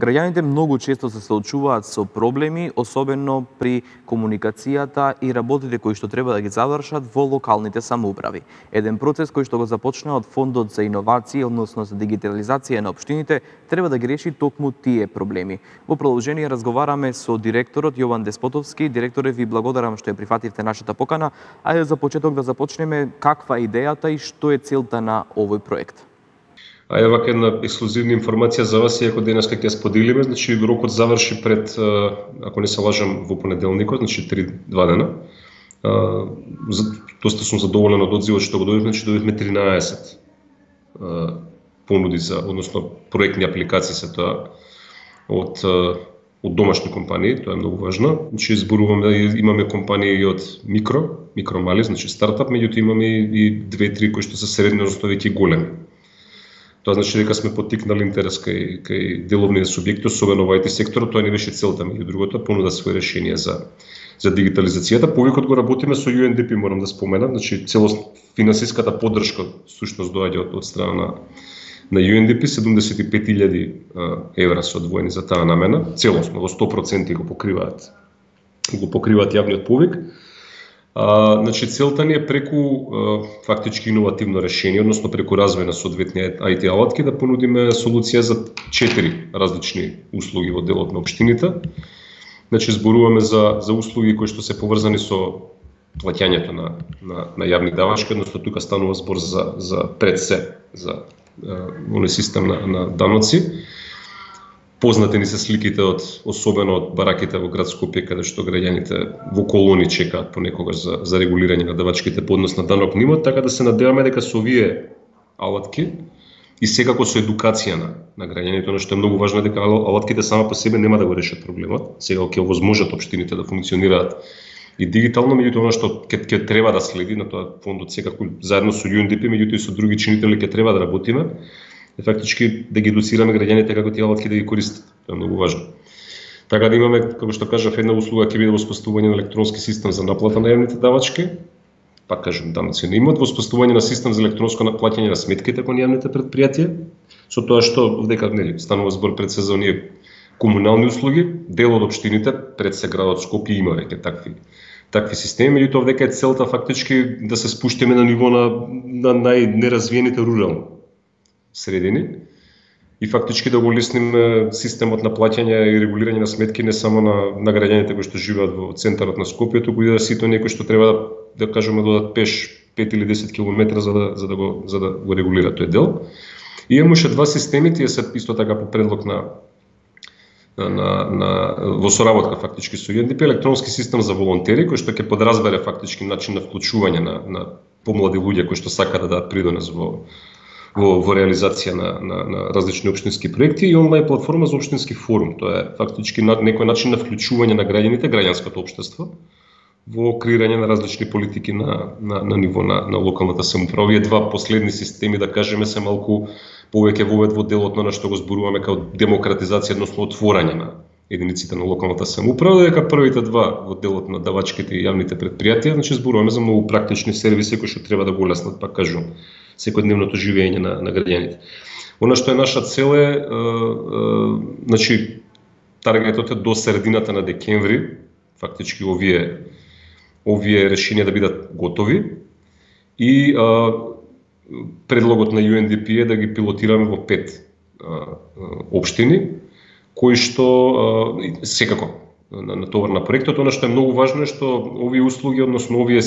Граѓаните многу често се соочуваат со проблеми, особено при комуникацијата и работите кои што треба да ги завршат во локалните самоуправи. Еден процес кој што го започна од Фондот за иновации, односно за дигитализација на општините, треба да ги реши токму тие проблеми. Во продолжение разговараме со директорот Јован Деспотовски. Директоре, ви благодарам што ја прифативте нашата покана. Ајде за почеток да започнеме каква е идејата и што е целта на овој проект. А ева една ексклузивна информација за вас, иако денеска ќе споделиме, значи рокот заврши пред, ако не се лажам, во понеделникот, значи 2 дена. Доста сум задоволен од одзивот што го добивме, значи добивме 13 понуди за, односно проектни апликации се тоа од домашни компании, тоа е многу важно. Значи зборуваме, имаме компании и од микро мали, значи стартап, меѓутоа имаме и 2-3 кои што се средни, односно веќе големи. Тоа значи дека сме поттикнали интерес кај деловните субјекти, особено во IT секторот. Тоа не беше целта, меѓу другото, понуда своје решение за дигитализацијата. Повикот го работиме со UNDP, морам да споменам, значи целост финансиската поддршка всушност доаѓа од страна на UNDP, 75.000 евра се одвоени за таа намена, целосно во 100% го покриваат јавниот повик. Значи целта ни е преку фактички иновативно решение, односно преку развој на соодветни IT алатки да понудиме солуција за 4 различни услуги во делот на општините. Значи зборуваме за услуги кои што се поврзани со плаќањето на јавни давачки, односно тука станува збор за пред се за оној систем на даноци. Познати ни се сликите особено од бараките во град Скопје, каде што граѓаните во колони чекаат понекогаш за регулирање на давачките по однос на данок на имот, така да се надеваме дека со овие алатки и секако со едукација на граѓаните, она што е многу важно е дека алатките сама по себе нема да го решат проблемот, секако ќе овозможат општините да функционираат и дигитално, меѓутоа она што ќе треба да следи на тоа фондот секако заедно со UNDP, меѓутоа и со други чинители ќе треба да работиме, е фактички да ги едуцираме граѓаните како тие алатки да ги користат. Тоа е многу важно. Така да имаме, како што кажав, една услуга ќе биде воспоставување на електронски систем за наплата на јавните давачки, пак кажам, даноци на имот, воспоставување на систем за електронско плаќање на сметките кон јавните предпријатија, со тоа што дека нели станува збор пред се за оние комунални услуги, дел од општините пред се градот Скопје има веќе такви системи, меѓутоа дека е целта фактички да се спуштиме на ниво на најнеразвиените рурални средини и фактички да го улесниме системот на плаќање и регулирање на сметки не само на граѓаните кои што живеат во центарот на Скопје, туку и да сите оние кои што треба да кажеме додат пеш 5 или 10 км за да го регулира тој дел. И имаме уште 2 системи, тие се исто така по предлог во соработка фактички со UNDP, електронски систем за волонтери кој што ќе подразбере фактички начин на вклучување на помлади луѓе кои што сакаат да дадат придонес во реализација на различни општински проекти и онлайн платформа за општински форум. Тоа е фактички некој начин на вклучување на граѓаните, граѓанското општество во креирање на различни политики на ниво на локалната самоуправа. Овие 2 последни системи, да кажеме, се малку повеќе вовед во делот на што го зборуваме како демократизација, односно отворање на единиците на локалната самоуправа, дека првите 2 во делот на давачките и јавните предпријатија, значи зборуваме за многу практични сервиси кои што треба да го улеснат, пак кажувам, секојдневното живење на граѓаните. Она што е наша цел е, значи, таргетот е до средината на декември, фактички овие решенија да бидат готови и предлогот на UNDP е да ги пилотираме во 5 општини, кои што секако на товар на проектот. Она што е многу важно е што овие услуги, односно овие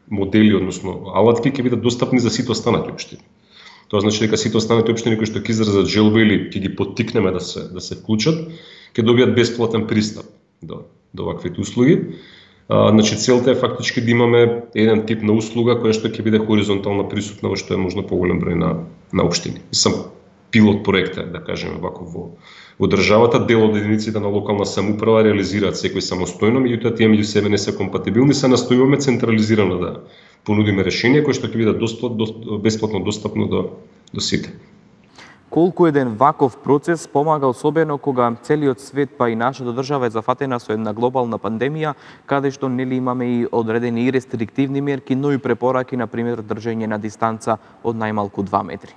модели, односно алатки ќе бидат достапни за сите останати општини. Тоа значи дека сите останати општини кои што ќе изразат желба или ќе ги поттикнеме да се вклучат, ќе добијат бесплатен пристап до ваквите услуги. Значи целта е фактички да имаме еден тип на услуга која што ќе биде хоризонтално присутна во што е можно поголем број на општини. Сам пилот проект е, да кажеме вако во државата, дел од единиците на локална самоуправа реализираат секој самостојно, меѓутоа тие меѓу себе не се компатибилни, се настојуваме централизирано да понудиме решение кои што ќе бидат бесплатно достапно до сите. Колку еден ваков процес помага, особено кога целиот свет, па и нашата држава е зафатена со една глобална пандемија, каде што нели имаме и одредени и рестриктивни мерки, но и препораки, на пример, држење на дистанца од најмалку 2 метри?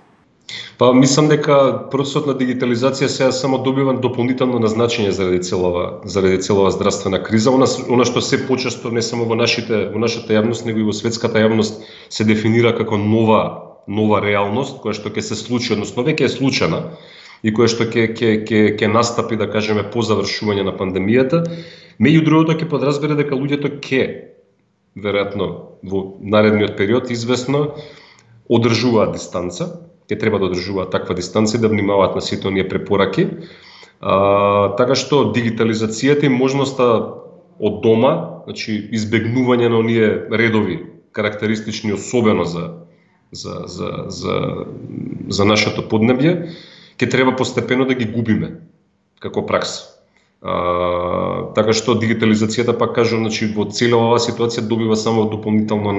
Па мислам дека процесот на дигитализација сега само добива дополнително назначење заради целава здравствена криза. Она што се почесто не само во нашата јавност, него и во светската јавност се дефинира како нова реалност која што ќе се случи, односно веќе е случена и која што ќе настапи, да кажеме, по завршување на пандемијата. Меѓу другото ќе подразбере дека луѓето ќе веројатно во наредниот период извесно одржуваат дистанца, ќе треба да одржуваат таква дистанца и да внимаваат на сите оние препораки. Така што дигитализацијата и можноста од дома, значи избегнување на оние редови карактеристични особено за нашето поднебје, ќе треба постепено да ги губиме како пракса. Така што дигитализацијата, пак кажам, значи во цела оваа ситуација добива само дополнителна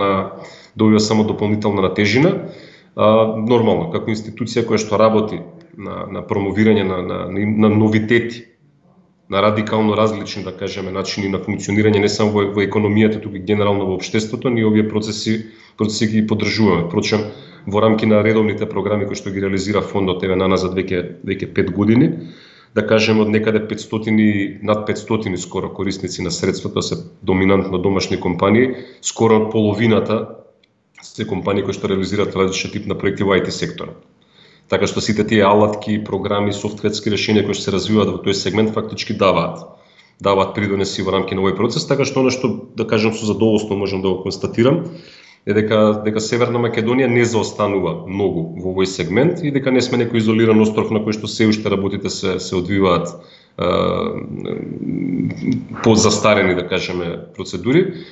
на тежина. Нормално, како институција која што работи на промовирање на новитети, на радикално различни, да кажеме, начини на функционирање не само во економијата, туку и генерално во општеството, ние овие процеси ги поддржуваме. Впрочем, во рамки на редовните програми кои што ги реализира фондот еве наназад веќе 5 години, да кажеме од некаде над 500 скоро корисници на средствата се доминантно домашни компании, скоро половината се компании кои што реализираат различен тип на проекти во IT секторот. Така што сите тие алатки, програми, софтверски решенија кои што се развиваат во тој сегмент фактички даваат придонеси во рамки на овој процес, така што она што, да кажам, со задоволство можам да го констатирам е дека Северна Македонија не заостанува многу во овој сегмент и дека не сме некој изолиран остров на кој што се уште работите се одвиваат по застарени, да кажеме, процедури.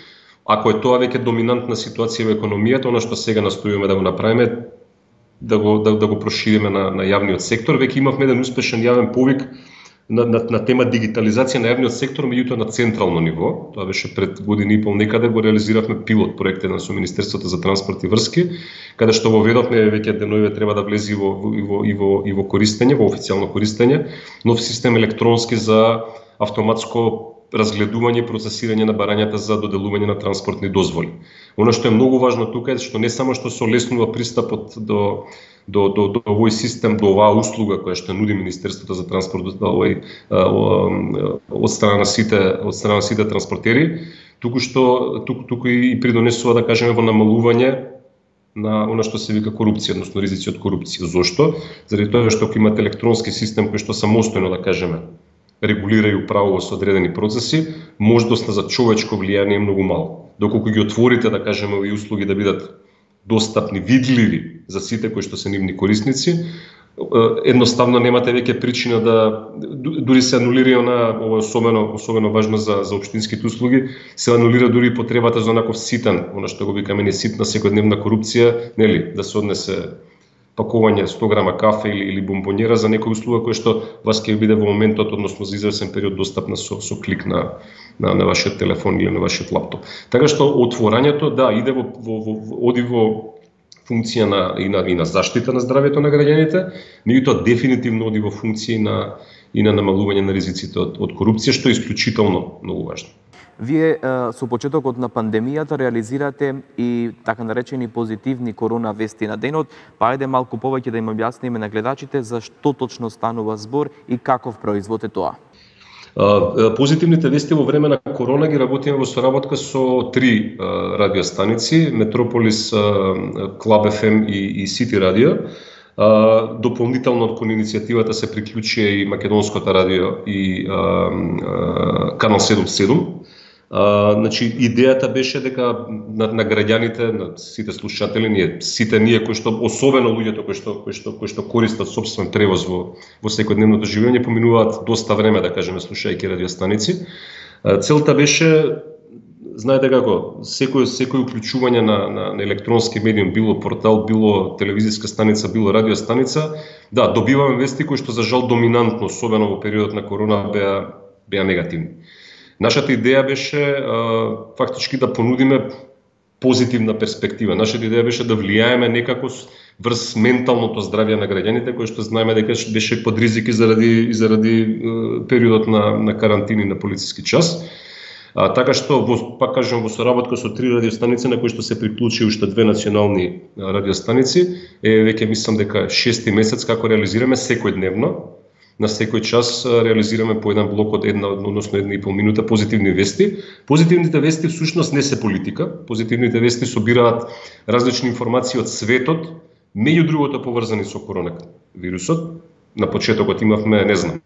Ако е тоа веќе доминантна ситуација во економијата, она што сега настојуваме да го направиме, да го прошириме на јавниот сектор. Веќе имавме еден успешен јавен повик на тема дигитализација на јавниот сектор, меѓутоа на централно ниво. Тоа беше пред година и пол некаде, го реализиравме пилот проект со Министерството за транспорт и врски, каде што воведовме веќе денови треба да влезе и во користење, во официјално користење, нов систем електронски за автоматско разгледување и процесирање на барањата за доделување на транспортни дозволи. Оно што е многу важно тука е што не само што се олеснува пристапот до овој систем, до оваа услуга која што нуди Министерството за транспорт од страна на сите транспортери, туку и придонесува, да кажеме, во намалување на она што се вика корупција, односно ризици од корупција. Зошто? Заради тоа што ако имате електронски систем кој што самостојно, да кажеме, регулира и управува со одредени процеси, можноста за човечко влијание е многу мало. Доколку ги отворите, да кажеме, овие услуги да бидат достапни, видливи за сите кои што се нивни корисници, едноставно немате веќе причина дури се анулира ова особено важно за општинските услуги, се анулира дури потребата за онаков ситен, она што го викаме не ситна секојдневна корупција, нели, да се однесе пакување 100 грама кафе или бомбонjera за некоја услуга која што вас ќе биде во моментот, односно за извесен период достапна со клик на вашиот телефон или на вашиот лаптоп. Така што отворањето иде оди во функција и на заштита на здравјето на граѓаните, меѓутоа дефинитивно оди во функција и на намалување на ризиците од корупција, што е исклучително многу важно. Вие со почетокот на пандемијата реализирате и така наречени позитивни корона вести на денот, па ајде малку повеќе да им објасниме на гледачите за што точно станува збор и каков производ е тоа. Позитивните вести во време на корона ги работиме во соработка со 3 радиостаници, Метрополис, Клаб FM и Сити радио. Дополнително кон иницијативата се приклучи и Македонското радио и Канал 77. Значи, идејата беше дека на граѓаните, на сите слушатели, сите ние кои што, особено луѓето кои што користат сопствен превоз во секојдневното живење, поминуваат доста време, да кажеме, слушајќи радиостаници. Целта беше, знаете како, секој уклучување на електронски медиум, било портал, било телевизиска станица, било радиостаница, добиваме вести кои што за жал доминантно, особено во периодот на корона, беа негативни. Нашата идеја беше фактички да понудиме позитивна перспектива. Нашата идеја беше да влијаеме некако врз менталното здравје на граѓаните, кои што знаеме дека беше под ризики заради периодот на карантини на полициски час. Така што, пак кажам, во соработка со 3 радиостаници, на кои што се приклучи уште 2 национални радиостаници, веќе мислам дека 6-ти месец како реализираме секојдневно, на секој час реализираме по еден блок од 1,5 минута позитивни вести. Позитивните вести всушност не се политика, позитивните вести собираат различни информации од светот, меѓу другото поврзани со коронавирусот. На почетокот имавме, не знам,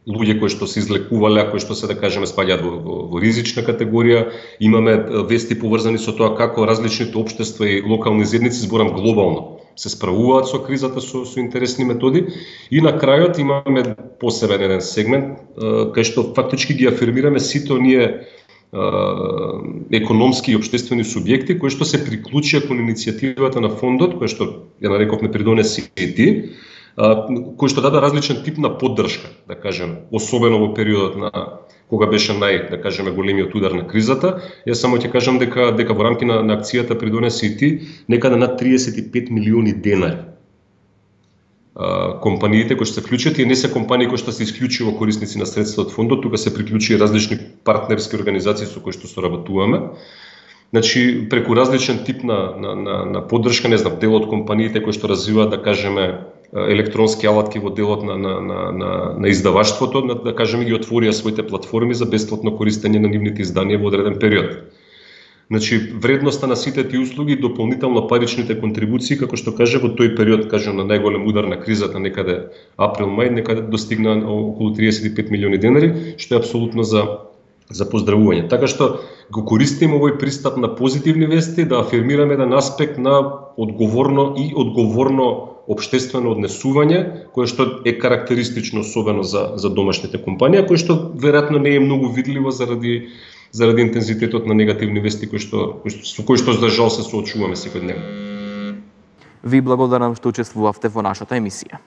луѓе кои што се излекувале, кои што се, да кажеме, спаѓаат во ризична категорија. Имаме вести поврзани со тоа како различните општества и локални заедници, зборам глобално, се справуваат со кризата со интересни методи. И на крајот имаме посебен еден сегмент кај што фактички ги афирмираме сите оние економски и општествени субјекти кои што се приклучија кон иницијативата на фондот, кој што ја нарековме Придонеси и ти, кој што даде различен тип на поддршка, да кажем, особено во периодот на кога беше да кажеме, големиот удар на кризата. Јас само ќе кажам дека во рамки на акцијата Придонеси и ти, некаде над 35 милиони денари компаниите кои што се вклучат, и не се компании кои што се исклучиво корисници на средства од фондот, тука се приклучи различни партнерски организации со кои што соработуваме. Значи, преку различен тип на поддршка, не знам, дел од компаниите кои што развиваат, да кажеме, електронски алатки во делот на издаваштвото, да кажеме, ги отворија своите платформи за бесплатно користење на нивните изданија во одреден период. Значи, вредноста на сите тие услуги, дополнително паричните контрибуции, како што каже, во тој период, кажем, на најголем удар на кризата, некаде април-мај, некаде достигна околу 35 милиони денари, што е апсолутно за поздравување. Така што го користиме овој пристап на позитивни вести, да афирмираме еден аспект на одговорно општествено однесување, кое што е карактеристично особено за домашните компании, кое што веројатно не е многу видливо заради интензитетот на негативни вести со кои што за жал се соочуваме секојдневно. Ви благодарам што учествувавте во нашата емисија.